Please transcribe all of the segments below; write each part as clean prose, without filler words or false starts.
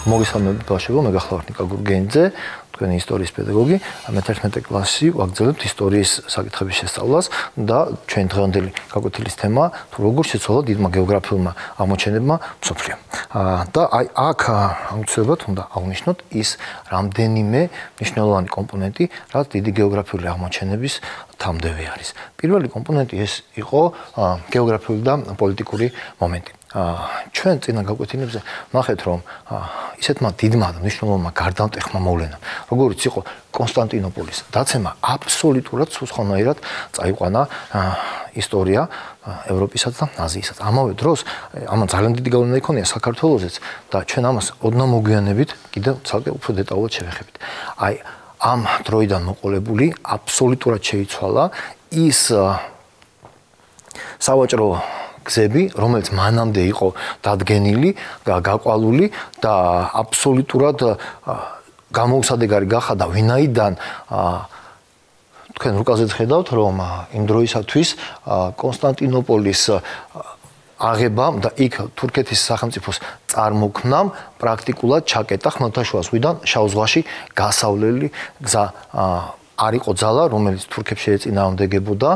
მოგესალმებით ბავშვებო, მე გახლავართ ნიკა გურგენიძე, თქვენი ისტორიის პედაგოგი. მე 11 კლასში ვაგრძელებთ ისტორიის საკითხების შესწავლას და ჩვენ დღევანდელი გაკვეთილის თემა თუ როგორ შეცვალა დიდმა გეოგრაფიულმა აღმოჩენებმა მსოფლიო. და აი აქ აუცილებლად უნდა აღნიშნოთ ის რამდენიმე მნიშვნელოვანი კომპონენტი, რაც დიდი გეოგრაფიული აღმოჩენების თამდევი არის. პირველი კომპონენტი ეს იყო გეოგრაფიული და პოლიტიკური მომენტი. ჩვენ წინა გაკვეთილებზე ნახეთ, რომ ისეთმა დიდმა და მნიშვნელოვანმა გარდამტეხმა მოვლენამ, როგორიც იყო კონსტანტინოპოლის დაცემა, აბსოლუტურად სხვანაირად წაიყვანა ისტორია ევროპისაც და აზიისაც. ამავე დროს, ამან ძალიან დიდი გავლენა იქონია საქართველოსაც და ჩვენ ამას ოდნავ მოგვიანებით კიდევ ცალკე უფრო დეტალურად შევეხებით. აი, ამ დროიდან მოყოლებული აბსოლუტურად შეიცვალა ის სავაჭრო გზები, რომელიც მანამდე იყო დადგენილი, გაყვალული და აბსოლუტურად გამოუსადეგარი გახადა, ვინაიდან თქვენ რუკაზეც ხედავთ, რომ იმ დროისათვის კონსტანტინოპოლის აღებამ და იქ თურქეთის სახელმწიფოს წარმოქმნამ პრაქტიკულად ჩაკეტა ხმელთაშუა ზღვიდან შავ ზღვაში გასავლელი გზა არ იყო ძალა, რომელიც თურქებს შეეწინააღმდეგებოდა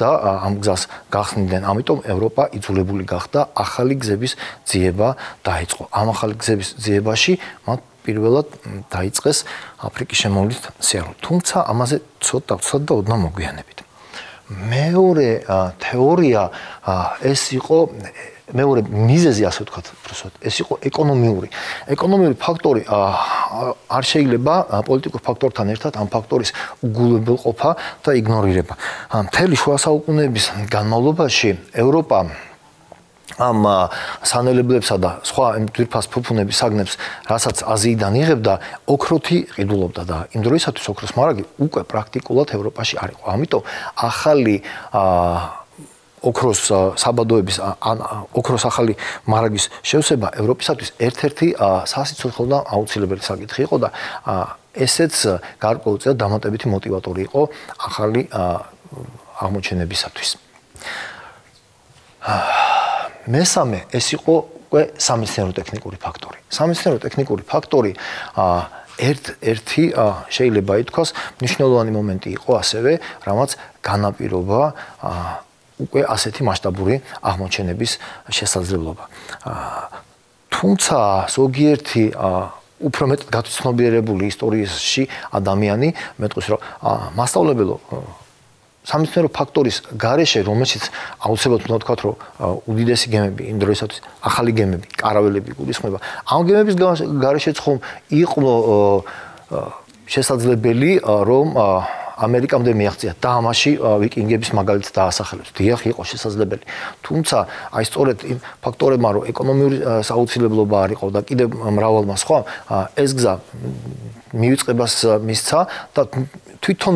და ამ გზას გახსნიდნენ. ამიტომ ევროპა იძულებული გახდა ახალი გზების ძიება დაიწყო. ამ ახალი გზების ძიებაში მათ პირველად დაიწყეს აფრიკის შემოვლით სიარული. თუმცა ამაზე ცოტა და ოდნავ მოგვიანებით. მეორე თეორია ეს იყო მეორე მიზეზი, ასე ვთქვათ, უბრალოდ ეს იყო ეკონომიური ფაქტორი არ შეიძლება პოლიტიკურ ფაქტორთან ერთად ამ ფაქტორის უგულებელყოფა და იგნორირება. მთელი შუა საუკუნეების განმავლობაში ევროპა ამ სანელებლებსა და სხვა ძვირფას ფუფუნების საგნებს, რასაც აზიიდან იღებდა, ოქროთი ყიდულობდა და იმ დროისათვის ოქროს მარაგი უკვე პრაქტიკულად ევროპაში არ იყო. ამიტომ ახალი ოქროს საბადოების ან ოქროს ახალი მარაგის შევსება ევროპისათვის ერთ-ერთი სასიცოცხლო და აუცილებელი საკითხი იყო და ესეც გარკვეულწილად დამატებითი მოტივატორი იყო ახალი აღმოჩენებისათვის. მესამე ეს იყო უკვე სამეცნიერო-ტექნიკური ფაქტორი. სამეცნიერო-ტექნიკური ფაქტორი ერთ-ერთი შეიძლება ითქვას მნიშვნელოვანი მომენტი იყო ასევე, რამაც განაპირობა უკვე ასეთი მასშტაბური აღმოჩენების შესაძლებლობა. თუმცა ზოგიერთი უფრო მეტად გაცნობიერებული ისტორიაში ადამიანი მეტყვის, რომ მასწავლებელო სამეცნიერო ფაქტორის გარეშე, რომელშიც აუცილებლად უნდა ვთქვათ, რომ უდიდესი გემები იმ დროისათვის ახალი გემები, კარაველები გულისხმობა. ამ გემების გარეშეც ხომ იყო შესაძლებელი, რომ ამერიკამდე მიაღწია და ამაში ვიკინგების მაგალითს დაასახელებს. დიახ, იყო შესაძლებელი. თუმცა, აი სწორედ იმ ფაქტორებმა, რომ ეკონომიური სააუცილებლობა არ იყო და კიდევ მრავალმა სხვა, ეს გზა მივიწყებას მისცა და თვითონ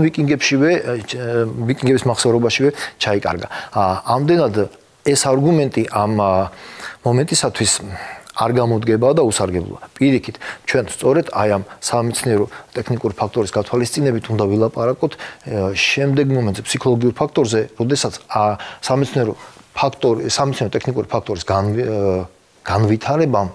ვიკინგების მახსოვრობაშივე ჩაიკარგა. ამდენად ეს არგუმენტი ამ მომენტისათვის არ გამოდგება და უსარგებლოა. პირიქით, ჩვენ სწორედ აი ამ სამეცნიერო ტექნიკური ფაქტორის გათვალისწინებით უნდა ვილაპარაკოთ შემდეგ მომენტზე ფსიქოლოგიურ ფაქტორზე, როდესაც სამეცნიერო ტექნიკური ფაქტორის განვითარებამ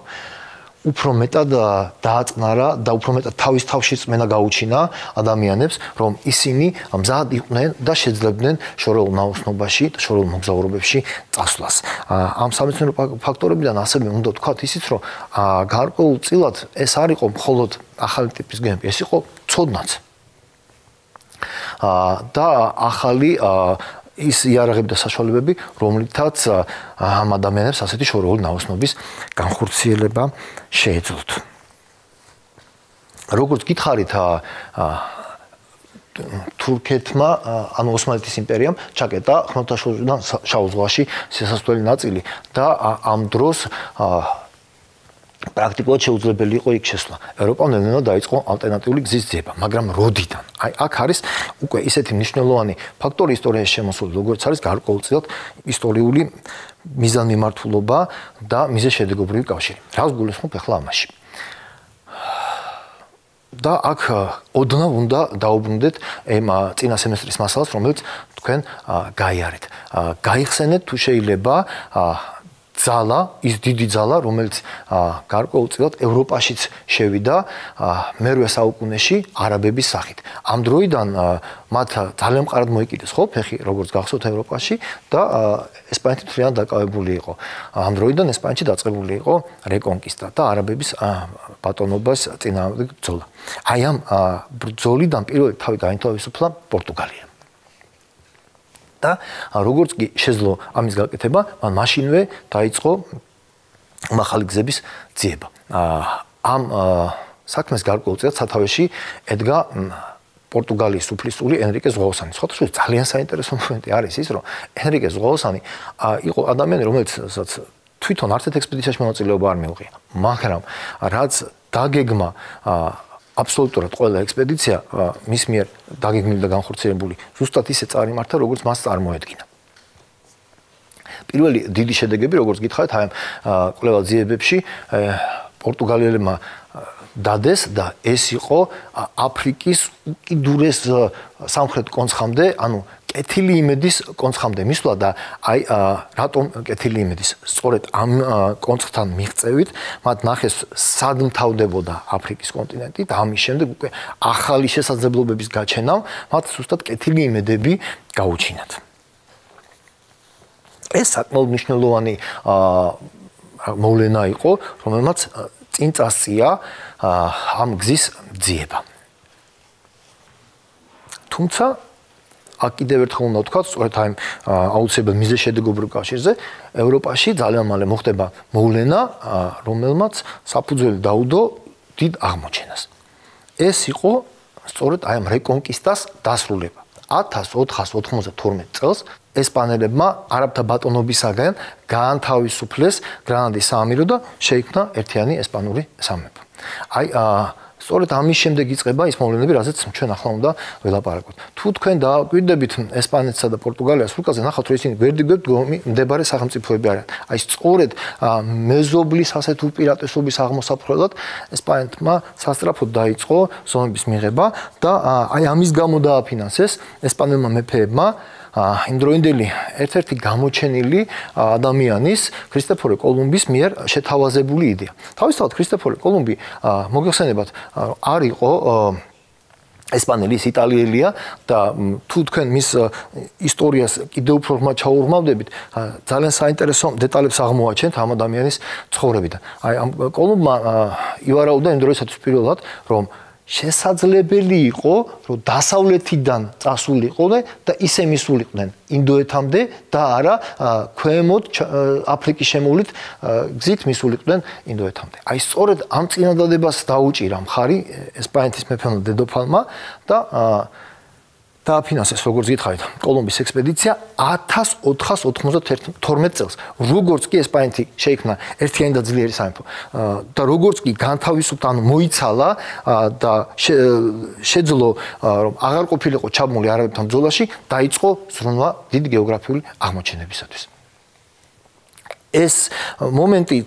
უფრო მეტად დააწნარა და უფრო მეტად თავის თავში წმენა გაუჩინა ადამიანებს, რომ ისინი მზად იყვნენ და შეძლებდნენ შორეულ ნაოსნობაში და შორეულ მოგზაურობებში წასვლას. ამ სამეცნიერო ფაქტორებიდან ასევე უნდა ვთქვათ ისიც, რომ გარკვეულწილად ეს არ იყო მხოლოდ ახალი ტიპის გემები, ეს იყო ცოდნაც. და ახალი ის იარაღები და საშუალებები, რომლითაც ამ ადამიანებს ასეთი შორეული ნაოსნობის განხორციელება შეეძლოთ. როგორც გითხარით, თურქეთმა, ანუ ოსმალეთის იმპერიამ ჩაკეტა ხმელთაშუა ზღვიდან შავ ზღვაში შესასვლელი ნაწილი და ამ დროს პრაქტიკულად შეუძლებელი იყო იქ შესვლა. ევროპამ ნელ-ნელა დაიწყო ალტერნატიული გზის ძიება, მაგრამ როდიდან? აი, აქ არის უკვე ისეთი მნიშვნელოვანი ფაქტორი ისტორიაში შემოსული, როგორც არის გარკვეულწილად ისტორიული მიზანმიმართულობა და მიზეზშედეგობრივი კავშირი. რას გულისხმობ ახლა ამაში? და აქ ოდნავ უნდა დაუბრუნდეთ ამ წინა სემესტრის მასალას, რომელიც თქვენ გაიარეთ. გაიხსენეთ თუ შეიძლება ძალა, ის დიდი ძალა, რომელიც გარკვეულწილად ევროპაშიც შევიდა მერვე საუკუნეში არაბების სახით. ამ დროიდან მათ ძალიან მყარად მოიკიდეს ხო ფეხი როგორც გახსოვთ ევროპაში და ესპანეთი თლიანად დაკავებული იყო. ამ დროიდან ესპანეთში დაწყებული იყო რეკონკისტა და არაბების ბატონობას წინააღმდეგ ბრძოლა. აი ამ ბრძოლიდან პირველი თავი გაინთავისუფლა პორტუგალია. და როგორც კი შეძლო ამის გაკეთება, მან მაშინვე დაიწყო მაღალი გზების ძიება. ამ საქმეს გარკვეულწილად სათავეში ედგა პორტუგალიის სუფლისწული ენრიკე ზღვაოსანი. სხვადასხვა ძალიან საინტერესო მომენტი არის ის, რომ ენრიკე ზღვაოსანი იყო ადამიანი, რომელიც თვითონ არც ერთ ექსპედიციაში მონაწილეობა არ მიუღია. მაგრამ რაც დაგეგმა აბსოლუტურად ყველა ექსპედიცია მის მიერ დაგეგმილი და განხორციელებული ზუსტად ისე წარიმართა, როგორც მას წარმოედგინა. პირველი დიდი შედეგები, როგორც გითხარით, აი ამ კვლევა ძიებებში პორტუგალიელებმა დადეს და ეს იყო აფრიკის უკიდურეს სამხრეთ კონცხამდე, ანუ კეთილი იმედის კონცხამდე მისვლა და აი რატომ კეთილი იმედის? სწორედ ამ კონცხთან მიღწევით მათ ნახეს სად მთავდებოდა აფრიკის კონტინენტი და ამის შემდეგ უკვე ახალი შესაძლებლობების გაჩენამ მათ ზუსტად კეთილი იმედები გაუჩინათ. ეს საკმაოდ მნიშვნელოვანი მოვლენა იყო, რომელმაც წინ წასწია ამ გზის ძიება. თუმცა აქ კიდევ ერთხელ უნდა ვთქვათ, სწორედ აი აუცილებლად მიზეშედეგობრივ კავშირზე ევროპაში ძალიან მალე მოხდება მოვლენა, რომელმაც საფუძველი დაუდო დიდ აღმოჩენას. ეს იყო სწორედ აი ამ რეკონკისტას დასრულება. 1492 წელს ესპანელებმა არაბთა ბატონობისაგან გაანთავისუფლეს გრანადის საამირო და შეიქმნა ერთიანი ესპანური სამეფო. აი სწორედ ამის შემდეგ იწყება ის მოვლენები, რაზეც ჩვენ ახლა უნდა ველაპარაკოთ. თუ თქვენ დააკვირდებით ესპანეთსა და პორტუგალიას სულკაზე, ნახავთ, რომ ისინი გვერდიგვერდ მდებარე სახელმწიფოები არიან. აი სწორედ მეზობლის ასეთ უპირატესობის აღმოსაფხვრელად ესპანეთმა სასწრაფოდ დაიწყო ზომების მიღება და აი ამის გამო დააფინანსეს ესპანელმა მეფეებმა იმდროინდელი ერთ-ერთი გამოჩენილი ადამიანის ქრისტეფორე კოლუმბის მიერ შეთავაზებული იდეა. თავისთავად ქრისტეფორე კოლუმბი მოგეხსენებათ არ იყო ესპანელი, ის იტალიელია და თუ თქვენ მის ისტორიას კიდევ უფრო ჩაურმავდებით, ძალიან საინტერესო დეტალებს აღმოაჩენთ ამ ადამიანის ცხოვრებიდან. აი ამ კოლუმბმა ივარაუდა იმ დროისათვის პირველად, რომ შესაძლებელი იყო, რომ დასავლეთიდან წასულიყვნენ და ისე მისულიყვნენ ინდოეთამდე და არა ქვემოთ აფრიკის შემოვლით გზით მისულიყვნენ ინდოეთამდე. აი სწორედ ამ წინადადებას დაუჭირა მხარი ესპანეთის მეფემ დედოფალმა და დააფინანსეს, როგორც გითხარით, კოლუმბის ექსპედიცია 1492 წელს. როგორც კი ესპანეთი შეიქმნა ერთიანი და ძლიერი სამეფო და როგორც კი განთავისუფლდა, ანუ მოიცალა და შეძლო, რომ აღარ ყოფილიყო ჩაბმული არაბებთან ბრძოლაში, დაიწყო ზრუნვა დიდი გეოგრაფიული აღმოჩენებისათვის. ეს მომენტი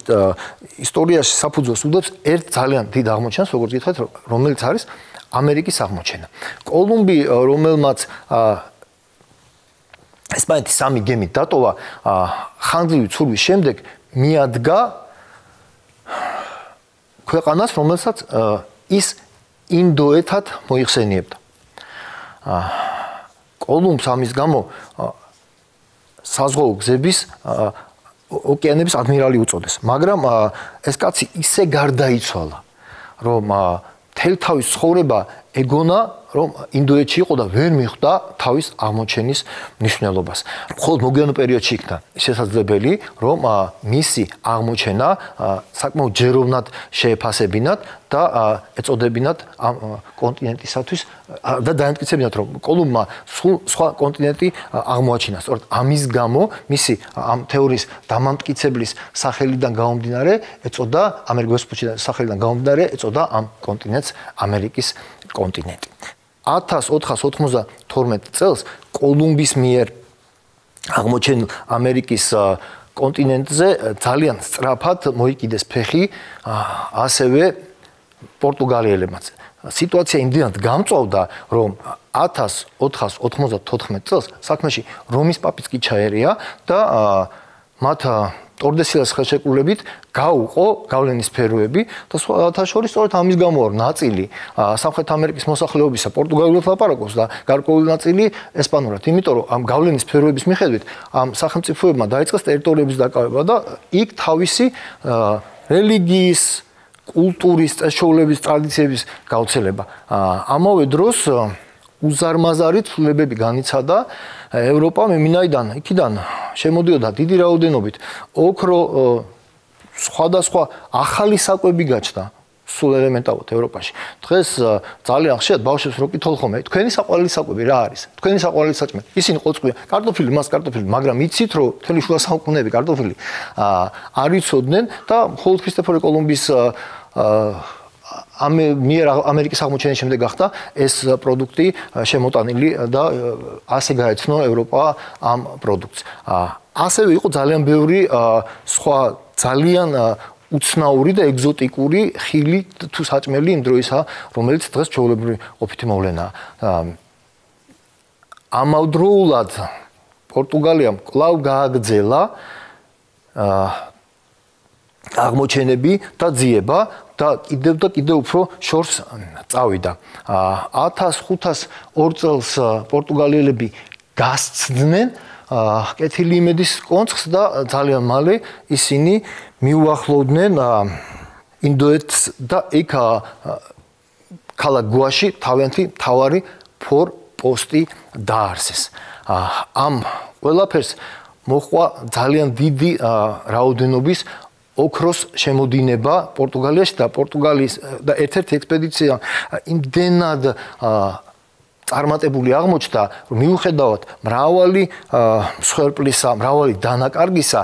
ისტორიაში საფუძველს უდევს ერთ ძალიან დიდ აღმოჩენას, როგორც გითხარით, რომელიც არის ამერიკის აღმოჩენა. კოლუმბი, რომელმაც ესპანეთის სამი გემით დატოვა, ხანგრძლივი ცურვის შემდეგ მიადგა ქვეყანას, რომელსაც ის ინდოეთად მოიხსენიებდა. კოლუმბს ამის გამო საზღვაო გზების ოკეანების ადმირალი უწოდეს, მაგრამ ეს კაცი ისე გარდაიცვალა, რომ თელ თავის ცხოვრება ეგონა, რომ ინდოეთში იყო და ვერ მიხვდა თავის აღმოჩენის მნიშვნელობას. მხოლოდ მოგვიანო პერიოდში იქნა შესაძლებელი, რომ მისი აღმოჩენა საკმაოდ ჯეროვნად შეეფასებინათ და ეწოდებინათ ამ კონტინენტისათვის და დაემტკიცებინათ, რომ კოლუმბმა სულ სხვა კონტინენტი აღმოაჩინა. სწორედ ამის გამო მისი ამ თეორიის დამამტკიცებლის სახელიდან გამომდინარე ეწოდა ამერიკის სახელიდან გამომდინარე ეწოდა ამ კონტინენტს ამერიკის კონტინენტი. 1492 წელს კოლუმბის მიერ აღმოჩენილ ამერიკის კონტინენტზე ძალიან სწრაფად მოიკიდეს ფეხი ასევე პორტუგალიელებმაც. სიტუაცია იმდენად გამწვავდა, რომ 1494 წელს საქმეში რომის პაპიც კი ჩაერია და მათ ტორდესილას ხელშეკრულებით გაუყო გავლენის სფეროები და სხვათა შორის სწორედ ამის გამო ნაწილი სამხრეთ ამერიკის მოსახლეობისა პორტუგალიურად ლაპარაკობს და გარკვეული ნაწილი ესპანურად. იმიტომ რომ ამ გავლენის სფეროების მიხედვით ამ სახელმწიფოებმა დაიწყეს ტერიტორიების დაკავება და იქ თავისი რელიგიის, კულტურის, წესჩოვლების, ტრადიციების გავრცელება. ამავე დროს უზარმაზარი ცვლილებები განიცადა ევროპა მემინაიდან იქიდან შემოდიოდა დიდი რაოდენობით ოქრო სხვადასხვა ახალი საკვები გაჩნდა სულ ელემენტარულად ევროპაში. დღეს ძალიან ხშირად ბავშვებს რო კითხულ ხოლმე, თქვენი საყვარელი საკვები რა არის? თქვენი საყვარელი საჭმელი. ისინი ყოწყვია, კარტოფილი, მას კარტოფილი, მაგრამ იცით რომ მთელი შუა საუკუნეები კარტოფილი არ იცოდნენ და მხოლოდ ქრისტეფორე კოლუმბის მიერ ამერიკის აღმოჩენის შემდეგ გახდა ეს პროდუქტი შემოტანილი და ასე გაეცნო ევროპა ამ პროდუქტს. ასევე იყო ძალიან ბევრი სხვა ძალიან უცნაური და ეგზოტიკური ხილი თუ საჭმელი იმ დროისა, რომელიც დღეს ჩვეულებრივი ყოფითი მოვლენაა. ამავდროულად პორტუგალიამ კვლავ გააგრძელა აღმოჩენები და ძიება და კიდევ უფრო შორს წავიდა. 1502 წელს პორტუგალიელები გასცდნენ კეთილი იმედის კონცხს და ძალიან მალე ისინი მიუახლოვდნენ ინდოეთს და იქ ქალაქ გუაში თავიანთი მთავარი ფორპოსტი დაარსეს. ამ ყველაფერს მოჰყვა ძალიან დიდი რაოდენობის ოქროს შემოდინება პორტუგალიაში და პორტუგალიის და ერთ-ერთი ექსპედიცია იმდენად წარმატებული აღმოჩნდა, რომ მიუხედავად მრავალი მსხვერპლისა, მრავალი დანაკარგისა,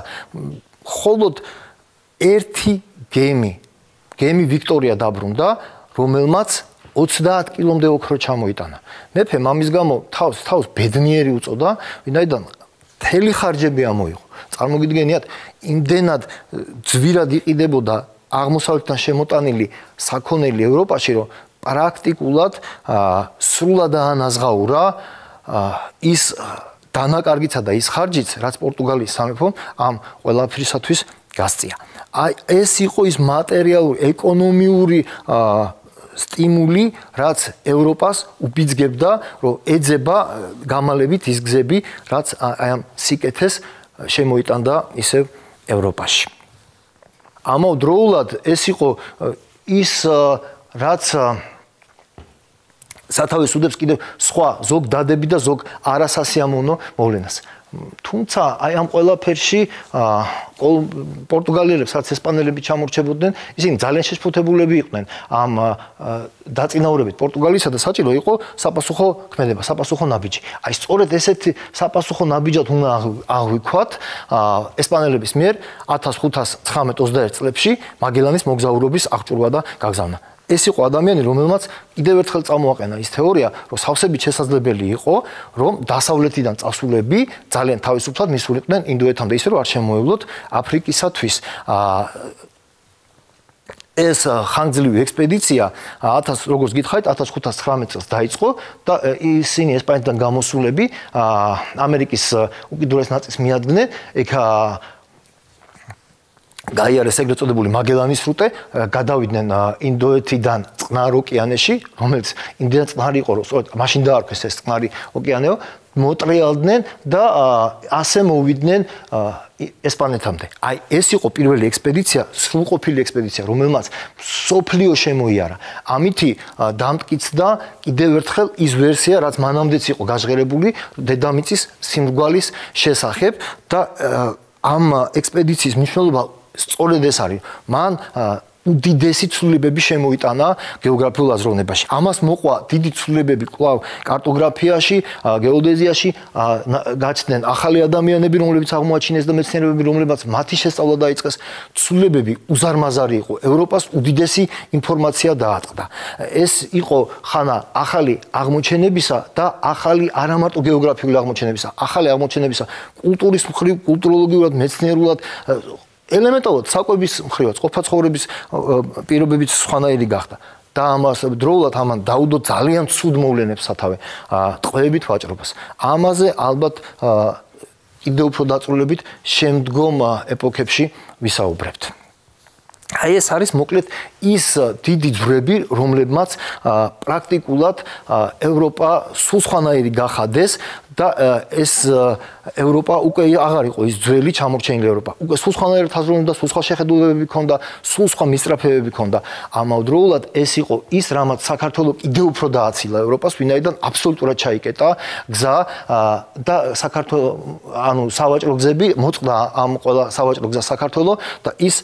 მხოლოდ ერთი გემი ვიქტორია დაბრუნდა, რომელმაც 30 კილომდე ოქრო ჩამოიტანა. მეფემ ამის გამო თავს ბედნიერი უწოდა, ვინაიდან მთელი ხარჯები ამოიღო. წარმოგიდგენიათ, იმდენად ძვირად იყიდებოდა აღმოსავლეთთან შემოტანილი საქონელი ევროპაში, რომ პრაქტიკულად სრულად აანაზღაურა ის დანაკარგიცა და ის ხარჯიც, რაც პორტუგალიის სამეფომ ამ ყველაფრისათვის გასწია. ეს იყო ის მატერიალური, ეკონომიური სტიმული, რაც ევროპას უბიძგებდა, რომ ეძება გამალებით ის გზები, რაც აი ამ სიკეთეს შემოიტანდა ისევ ევროპაში. ამავდროულად ეს იყო ის რაც სათავეს უდებს კიდევ სხვა ზოგ დადები და ზოგ არასასიამოვნო მოვლენას. თუმცა აი ამ ყველაფერში პორტუგალიელებს, რაც ესპანელები ჩამორჩებოდნენ, ისინი ძალიან შეშფოთებულები იყვნენ ამ დაწინაურებით პორტუგალიისა და საჭირო იყო საპასუხო ქმედება, საპასუხო ნაბიჯი. აი სწორედ ესეთი საპასუხო ნაბიჯად უნდა აღვიქვათ ესპანელების მიერ 1519-21 წლებში მაგელანის მოგზაურობის აღჭურვა და გაგზავნა. ეს იყო ადამიანი, რომელმაც კიდევ ერთხელ წამოაყენა ის თეორია, რომ სავსებით შესაძლებელი იყო, რომ დასავლეთიდან წასულები ძალიან თავისუფლად მისულიყვნენ ინდოეთამდე, ისე რომ არ შემოევლოთ აფრიკისათვის. ეს ხანგრძლივი ექსპედიცია როგორც გითხარით 1519 წელს დაიწყო და ისინი ესპანეთიდან გამოსულები ამერიკის უკიდურეს ნაწილს მიადგნენ. ეგ გაიარეს ეგრეთ წოდებული მაგელანის სრუტე, გადავიდნენ ინდოეთიდან წყნარ ოკეანეში, რომელიც იმდენად წყნარი იყო, რომ სწორედ მაშინ დაარქვეს ეს წყნარი ოკეანეო, მოტრიალდნენ და ასე მოვიდნენ ესპანეთამდე. აი ეს იყო პირველი ექსპედიცია, სრულყოფილი ექსპედიცია, რომელმაც სოფლიო შემოიარა. ამითი დამტკიცდა კიდევ ერთხელ ის ვერსია, რაც მანამდეც იყო გაჟღერებული დედამიწის სიმრგვალის შესახებ და ამ ექსპედიციის მნიშვნელობა სწორედ ეს არის. მან უდიდესი ცვლილებები შემოიტანა გეოგრაფიულ აზროვნებაში. ამას მოყვა დიდი ცვლილებები კვლავ კარტოგრაფიაში, გეოდეზიაში, გაჩნდნენ ახალი ადამიანები, რომლებიც აღმოაჩინეს და მეცნიერები, რომლებიც მათი შესწავლა დაიწყეს. ცვლილებები უზარმაზარი იყო. ევროპას უდიდესი ინფორმაცია დაატყდა. ეს იყო ხანა ახალი აღმოჩენებისა და ახალი არამარტო გეოგრაფიული აღმოჩენებისა, ახალი აღმოჩენებისა კულტურის მხრივ, კულტუროლოგიურად, მეცნიერულად ელემენტარულად საკვების მხრივაც ყოფა ცხოვრების პირობებიც სხვანაირი გახდა და ამას დროულად ამან დაუდო ძალიან ცუდ მოვლენებს სათავე ტყვეებით ვაჭრობას. ამაზე ალბათ კიდევ უფრო დაწვრილებით შემდგომ ეპოქებში ვისაუბრებთ. აი ეს არის მოკლედ ის დიდი ძვრები, რომლებმაც პრაქტიკულად ევროპა სულ სხვანაირი გახადეს და ეს ევროპა უკვე აღარ იყო ის ძველი ჩამორჩენილი ევროპა. უკვე სულ სხვანაირი თაზროვნება და სულ სხვა შეხედულებები ჰქონდა, სულ სხვა მისწრაფებები ჰქონდა. ამავდროულად ეს იყო ის, რამაც საქართველოს კიდევ უფრო დააცილა ევროპას, ვინაიდან აბსოლუტურად ჩაიკეტა გზა და საქართველოს ანუ სავაჭრო გზები მოწყდა ამ ყველა სავაჭრო გზა საქართველოს და ის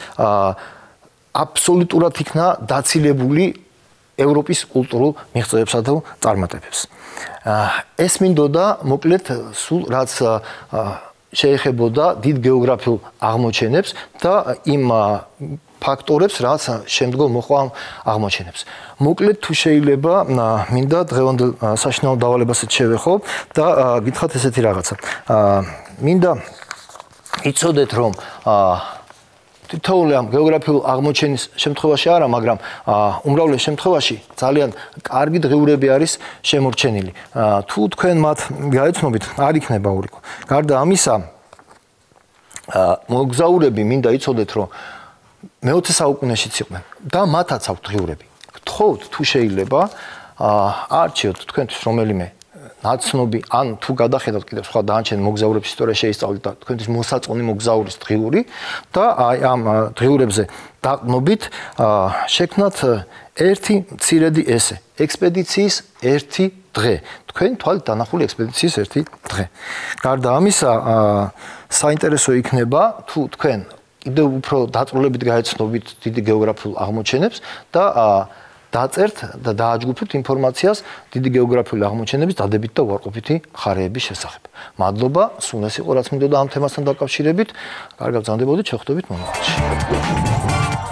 აბსოლუტურად იქნა დაცილებული ევროპის კულტურულ მიღწევებსა და წარმატებებს. ეს მინდოდა მოკლედ სულ რაც შეეხებოდა დიდ გეოგრაფიულ აღმოჩენებს და იმ ფაქტორებს, რაც შემდგომ მოყვა ამ აღმოჩენებს. მოკლედ თუ შეიძლება მინდა დღევანდელ საშინაო დავალებასაც შევეხო და გითხრათ ესეთი რაღაცა. მინდა იცოდეთ რომ თითოეული ამ გეოგრაფიულ აღმოჩენის შემთხვევაში არა, მაგრამ უმრავლეს შემთხვევაში ძალიან კარგი დღიურები არის შემორჩენილი. თუ თქვენ მათ გაეცნობით, არ იქნება ურიკო. გარდა ამისა, მოგზაურები მინდა იცოდეთ, რომ მე-20 საუკუნეშიც იყვნენ და მათაც აქვთ დღიურები. გთხოვთ თუ შეიძლება არჩიოთ თქვენთვის რომელიმე ნაცნობი ან თუ გადახედავთ კიდევ სხვა დანარჩენ მოგზაურების ისტორია შეისწავლეთ და თქვენთვის მოსაწონი მოგზაურის დღიური და აი ამ დღიურებზე დაყნობით შექმნათ ერთი მცირედი ესე ექსპედიციის ერთი დღე თქვენ თვალით დანახული ექსპედიციის ერთი დღე. გარდა ამისა საინტერესო იქნება თუ თქვენ კიდევ უფრო დაწვრილებით გაეცნობით დიდი გეოგრაფიულ აღმოჩენებს და დაწერთ და დააჯგუფებთ ინფორმაციას დიდი გეოგრაფიული აღმოჩენების დადებითი და უარყოფითი მხარეების შესახებ. მადლობა, სულ ეს იყო რაც მინდოდა ამ თემასთან დაკავშირებით. კარგად გრძანდებოდეთ, შევხვდებით მომავალში.